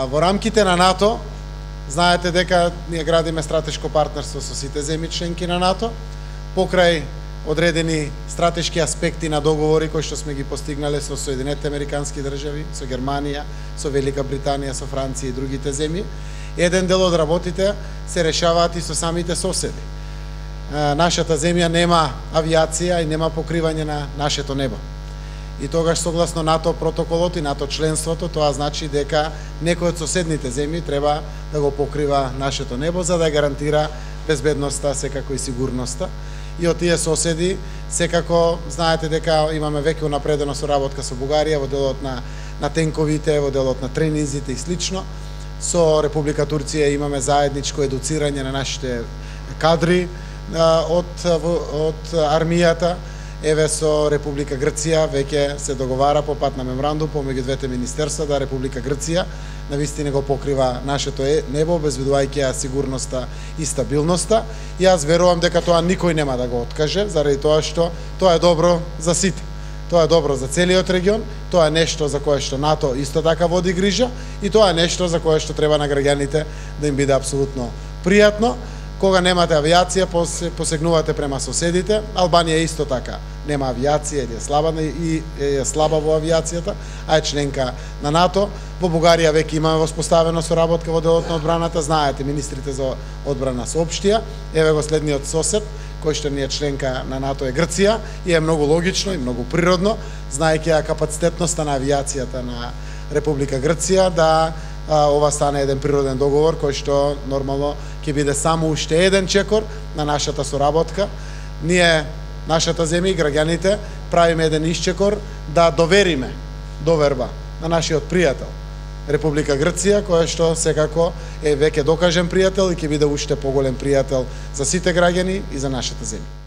Во рамките на НАТО, знаете дека ние градиме стратешко партнерство со сите земји членки на НАТО, покрај одредени стратешки аспекти на договори кои што сме ги постигнале со Соединетите Американски држави, со Германија, со Велика Британија, со Франција и другите земји. Еден дел од работите се решаваат и со самите соседи. Нашата земја нема авиација и нема покривање на нашето небо. И тогаш согласно НАТО протоколот и НАТО членството, тоа значи дека некој од соседните земји треба да го покрива нашето небо за да гарантира безбедноста, секако и сигурноста. И од тие соседи, секако знаете дека имаме веќе унапредена соработка со Бугарија во делот на тенковите, во делот на тренинзите и слично. Со Република Турција имаме заедничко едуцирање на нашите кадри од армијата. Еве со Република Грција веќе се договара по пат на меморандум помеѓу двете министерства да Република Грција навистина го покрива нашето небо, обезбедувајќи ја сигурноста и стабилноста. И јас верувам дека тоа никој нема да го откаже, заради тоа што тоа е добро за сите. Тоа е добро за целиот регион, тоа е нешто за кое што НАТО исто така води грижа и тоа е нешто за кое што треба на граѓаните да им биде апсолутно пријатно. Кога немате авиација, посегнувате према соседите. Албанија исто така нема авиација или е слаба во авиацијата, а е членка на НАТО. Во Бугарија веќе имаме воспоставена соработка во делот на одбраната. Знаете, министрите за одбрана соопштија. Еве го следниот сосед, кој што не е членка на НАТО, е Грција, и е многу логично и многу природно, знаејќи ја капацитетноста на авиацијата на Република Грција, да ова стане еден природен договор кој што нормално ќе биде само уште еден чекор на нашата соработка. Ние, нашата земја и граѓаните, правиме еден исчекор да довериме доверба на нашиот пријател Република Грција, која што секако е веќе докажен пријател и ќе биде уште поголем пријател за сите граѓани и за нашата земја.